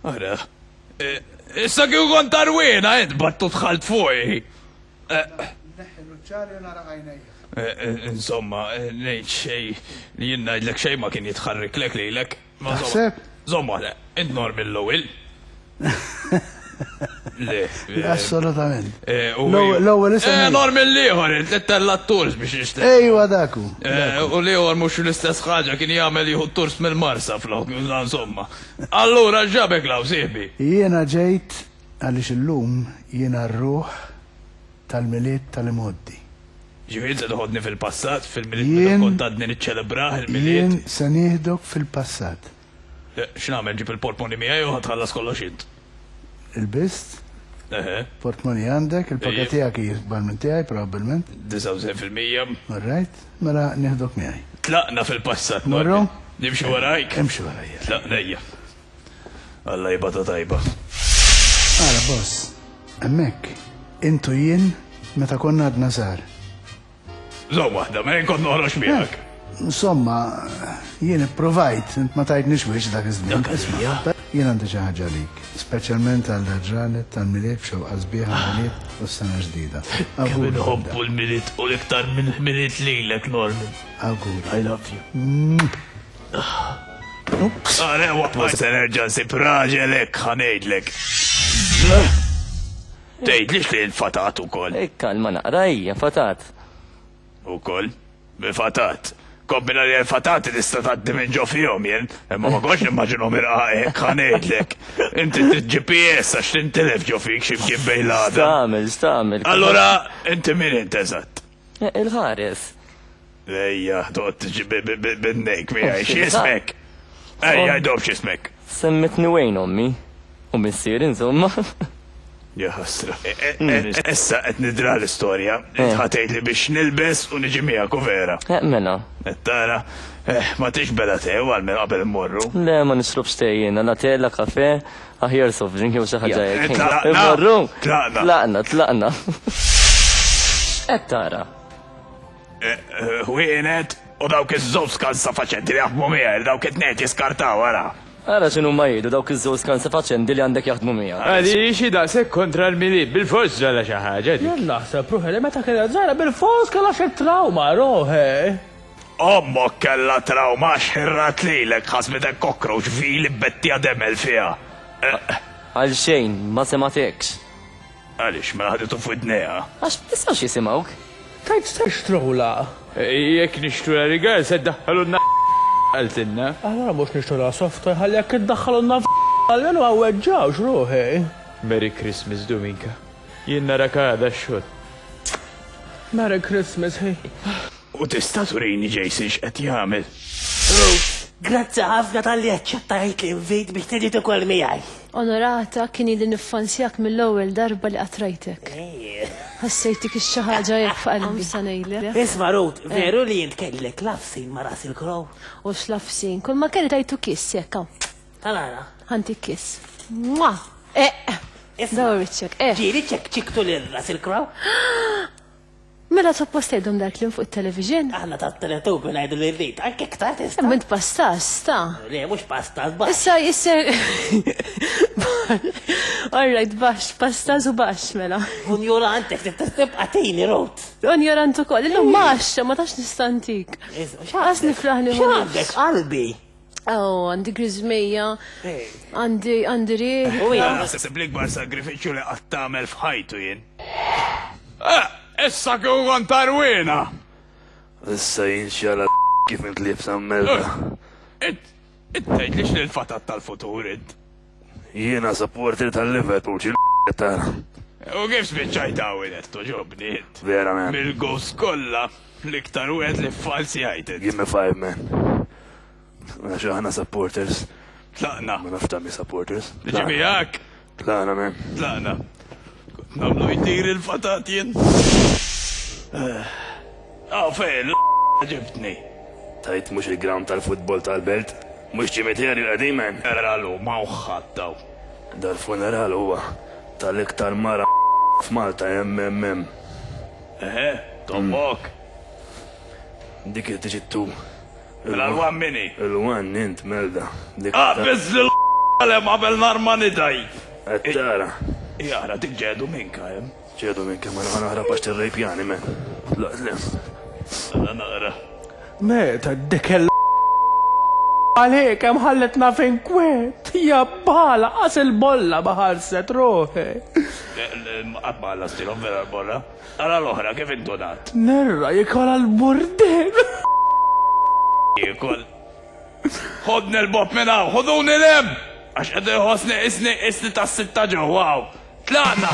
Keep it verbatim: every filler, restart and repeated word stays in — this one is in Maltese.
Ara. Eh, Issa kieku kont tarwina, int battu tħalt fuqi. Neħħi l-uċċari u nara għajnejja. Eh, eh, Insomma, eh, ngħid xej li jien ngħidlek xejn ma kien jitħarriklek lilek. Ma insomma- Taħseb? Żomm waħda, int Norman l-ewwel. Le. eh, Assolutament. eh, u- L-ewwel- L-ewwel isem. Eh, ejja. Norman l-ieħor, int li tella t-tours biex nixtieq. Ejwa daku. Eh, U l-ieħor mhux l-istess ħaġa kien jagħmel jieħu tours mill-Marsa flok, insomma. Allura ġabek law sieħbi. Jiena ġejt għaliex illum jiena r-ruħ tal-Milied tal-imgħoddi. Ġifieri se toħodni fil-passat, fil-Milied meta Jien- kont għadni niċċelebrah il-Milied. Jien se nieħdok fil-passat. Eh, X'nagħmel ġib il-portmoni miegħi u ħa tħallas kollox int. Il-bist, Eħe, portmoni għandek, il-paga Ejja. tiegħek hi ikbar minn tiegħi probabbilment. disgħa u disgħin fil-mija. All right, mela nieħdok miegħi. Tlaqna fil-passat. Morru? Norman. Nimxi warajk. Imxi warajja. Tlaqna ejja. Alla jibgħatha tajba. Ara, boss, hemmhekk, intu jien meta konna għadna żgħar. Żomm waħda, ma jien kont noħroġ miegħek. Insomma, jien ipprovajt, int ma tajtnix wiċċ dak iż-żmien. Dak għalija? Jien għandi xi ħaġa għalik, speċjalment għal ġranet tal-Milied b'xewqa sbieħa Milied u s-sena ġdida. Kemm Awguri. inħobbu l-Milied u l-iktar minn Milied lilek, Norman. Awguri. I love you. Are, waqqa, se nerġa' nsib raġel hekk ħa ngħidlek. Tgħidlix li l-fatat ukoll. Kalma naqra hija, fatat. Ukoll, bil-fatat. Kombina li l-fatati tista' tgħaddi minn ġo fihom jien, imma ma kontx nimmaġinhom irqaq hekk ħa ngħidlek. Inti trid G P S għax tintilef ġo fik xi mkien bejn l-għadam. Stamel, stamel. Allura, inti min int eżatt? Eh, Il-ħares. Ejja, toqgħod tiġi bin-nejk miegħi, x'ismek? Ejja, jdob x'ismek. Semmitni Wayne ommi. U missier, insomma. Ja ħasra. Issa qed nidra l-istorja. Ħa tgħid li biex nilbes u niġi miegħek u vera. Eh, mela. Qed tara, eh, ma tix bela te għal minn qabel immorru. Le, ma nixrobx te jiena, la te, la kafe, aħjar soft drink jew xi ħaġa hekk. Tlaqna. Immorru. Tlaqna. Tlaqna, tlaqna. Qed tara. Ħwienet u dawk iż-żewġ skansa faċendi li jaħdmu miegħi, dawk it-tnejn jiskartaw wara. Ara x'inhu ma jgħidu dawk iż-żewġ skansa faċendi li għandek jaħdmu miegħek. Għaliex daqshekk kontra l-Milied, bil-fors ġara xi ħaġa dik. Jien naħseb ruħi li meta kienet żgħira bil-fors kellha xi trauma ruħi. Ommok kellha trauma x'ħirrat lilek ħasbitek cockroach fili bettija demel fiha. Eh, Għal xejn, ma sematekx. Għaliex mela ħaditu f'widnejha. Għax tistgħux jisimgħuk. Tajt se xtrula. Jekk nixtru la rigal se ddaħħalulna qaltilna. Allora mhux nixtrula soft toy ħalli jekk iddaħħalulna għalmenu għawweġġawx ruħi. Merry Christmas, Dominka. Jien narak għada x-xogħol. Merry Christmas, hey. U tista' turini Jason x'qed jagħmel. Grazzi ħafna talli aċċettajt l-invit biex tiġi tikol miegħi. Onorata kien ili niffansjak mill-ewwel darba li qatt rajtek. Ħassejtik xi ħaġa hekk f'qalbi sa ngħidlek. Isma' Ruth, veru li int kellek love scene ma' Russell Crowe? U x'love scene, kull ma kelli tajtu kiss jekk hawn. Talara. Ħanti kiss. Mwah! Eh! Isma' Dawar wiċċek, eh. Ġieli ċekċiktu lil Russell Crowe? Mela suppost tgħidhom dak li fuq it-television? Aħna ta' teletubi ngħidu li rrid, anke iktar tista'. Imma int pastas, ta' Le, mhux pasta, baxx. Issa, issa. All right, baxx, pastas u baxx, mela. Unjurantek, tibqa' tini Ruth. Unjorant ukoll, illum maxxa, ma tax nistantik. Għas nifraħ li X'għandek qalbi? Oh, għandi griżmija, għandi għandi riħ. U jien, Naħseb l-ikbar sagrifiċċju li qatt tagħmel f'ħajtu jien. Eh, Issa kieku kont tarwina. Issa jinxala kif int liebsa melda. Int, int tgħidlix li l-fatat tal-futur int. Jiena supporter tal-Liverpool, xi tara. U kif spiċċajt hawn toġobni int. Vera man. Mill-ghost kollha l-iktar wieħed li falsi għajtet. Give me five man. Għax aħna supporters. Tlaqna. Ma nafx tagħmel supporters. Niġi miegħek. Tlaqna man. Tlaqna. Kont nagħmlu jtir il-fatat jien. Aw fejn, ġibtni. Tajt mhux il-ground tal-futbol tal-belt. Mhux ċimiterju qadim man. Eralu ma uħħattaw. Dal-funeral huwa tal-iktar mara f'Malta M M M. Eħe, tommok. Dik il-tiġi tu. Mela l-one mini. Il-one int melda. Dik Ah, biz l Għalem qabel narma nidaj. Qed tara. Jara, dik ġedu minka hemm. Ġedu minka ma ħa naħrab għax tirrejpjani men. Tlaqt lem. Għala naqra. Meta dik il għalek hemm ħalletna fejn kwiet. Ja bala qas il-bolla ma ħarset ruħi. Qatt ma ħallastilhom vera l-bolla. Ara l-oħra kif indunat. Nerra jikola l-burdel. Jikol. Ħodni l-bob minn hawn, ħoduni l-hemm! Għax qed iħossni isni isni tas-sitta ġewwa hawn. Tlaqna!